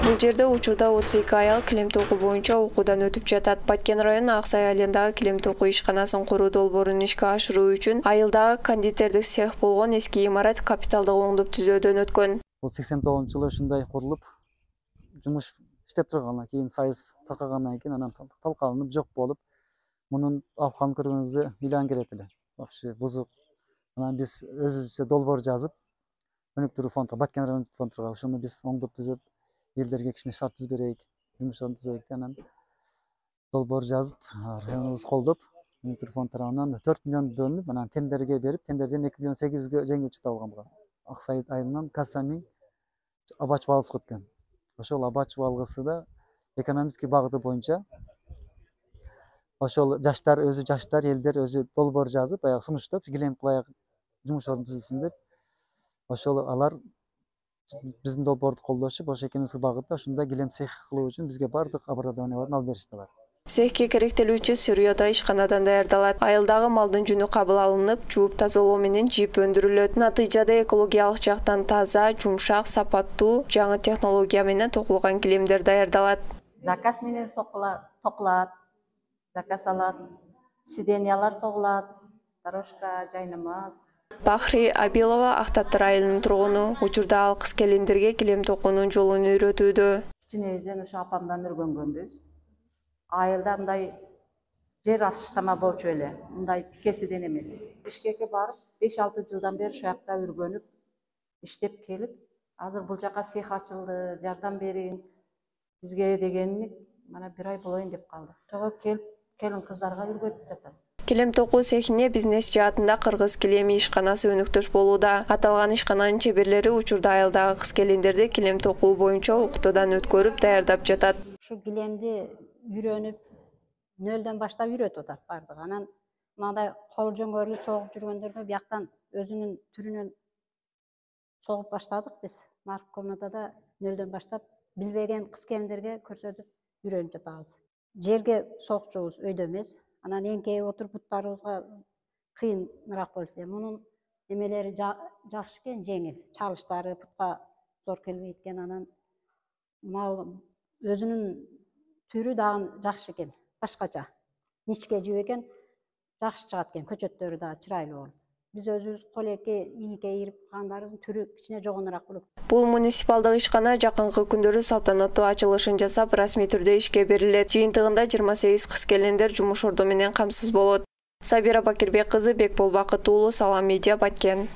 Бул жерде учурда 32 аял килем токуу боюнча окуудан өтүп жатат. Баткен районунун Аксай айылындагы килем токуу ишканасын куруу долбоорун ишке ашыруу үчүн айылдагы кондитердик цех болгон эски имарат капиталдык оңдоп түзөөдөн өткөн. Бул 89-жылы ушундай курулуп, жумуш иштеп тургандан кийин союз таркагандан кийин анан талкаланып жок болуп, мунун абкан көргөнүңүздө ыйлан келет эле. Вообще бузук. Анан биз өзүбүзчө долбоор жазып, өнүктүрүү фонду, Баткен райондук фондуга ошону биз оңдоп түзөп, элдерге кичине шарт түзүп берейик, жумуштарын түзөйүк деп анан долбоор жазып, районубуз колдоп, өнүктүрүү фонд тарабынан 4 миллион бөлүнүп, анан тендерге берип, тендерден 2 миллион 800гө жеңүүчү табылган болгон. Аксай айылынан Касамин Абач балгысы өткөн. Ошол Абач балгысы да экономический багыты боюнча ошол жаштар элдер өзү долбоор жазып, баягы сунуштап, килем кылайык, жумуш орун түзүлсүн деп, ошол алар биздин долбоорду колдошуп, ошо экономический багытта ушундай килем цех кылуу үчүн бизге бардык оборудованияларын алып беришти алар. Цехке керектелүүчү сырьё да ишканадан даярдалат. Айылдагы малдын жүнү кабыл алынып, жууп тазалоо менен жип өндүрүлөт. Натыйжада экологиялык жактан таза, жумшак, сапаттуу, жаңы технология менен токулган килемдер даярдалат. Заказ менен токулат, заказ алат, сиденьялар согулат, дорожка, жайнамаз. Бахри Абилова Актаттар айылынын тургуну. Учурда ал кыз келиндерге килем токуунун жолун үйрөтүүдө. Кичинебизден ошо апамдан өргөнгөнбүз. Айылда мындай жер асыштама болчу эле, мындай тикесиден эмес. Бишкекке барып, 5-6 жылдан бери ошол жакта үргөнүп, иштеп келип, азыр бул жака цех ачылды, жардам бериң бизге дегени мана 1 ай болоюн деп калды. Ошого келип, келин кыздарга үргөтүп жатат. Килем токуу цехине бизнес жаатында Кыргыз килеми ишканасы өнүктөш болууда. Аталган ишкананын чеберлери учурда айылдагы кыз келиндерди килем токуу боюнча окутуудан өткөрүп даярдап жатат. Ушу килемди үйрөнүп, нөлдөн баштап үйрөтүп атат бардыгы. Анан мындай кол жөңгөрүлүп согуп жүргөндөргө бияктан өзүнүн түрүнөн согуп баштадык биз. Нарып комнатада нөлдөн баштап билбеген кыз келиндерге көрсөтүп үйрөнүп жатабыз. Жерге согчубуз, өйдө эмес. Анан эңкейип отуруп буттарыбызга кыйыныраак болчу. Мунун эмелери жакшы экен, жеңил. Чалыштары бутка зор келбейт экен. Анан мал өзүнүн түрү дагы жакшы экен, башкача. Ничке жип экен, жакшы чыгат экен, көчөттөрү да чырайлуу болуп. Биз өзүбүз колеке, ийике ийирип калгандарыбыздын түрү кичине жогонураак болот. Бул муниципалдык ишкана жакынкы күндөрү салтанаттуу ачылышын жасап, расмий түрдө ишке берилет. Жыйынтыгында 28 кыз келиндер жумуш орду менен камсыз болот. Сабира Бакирбек кызы, Бекбол Бакыт уулу, Салам Медиа, Баткен.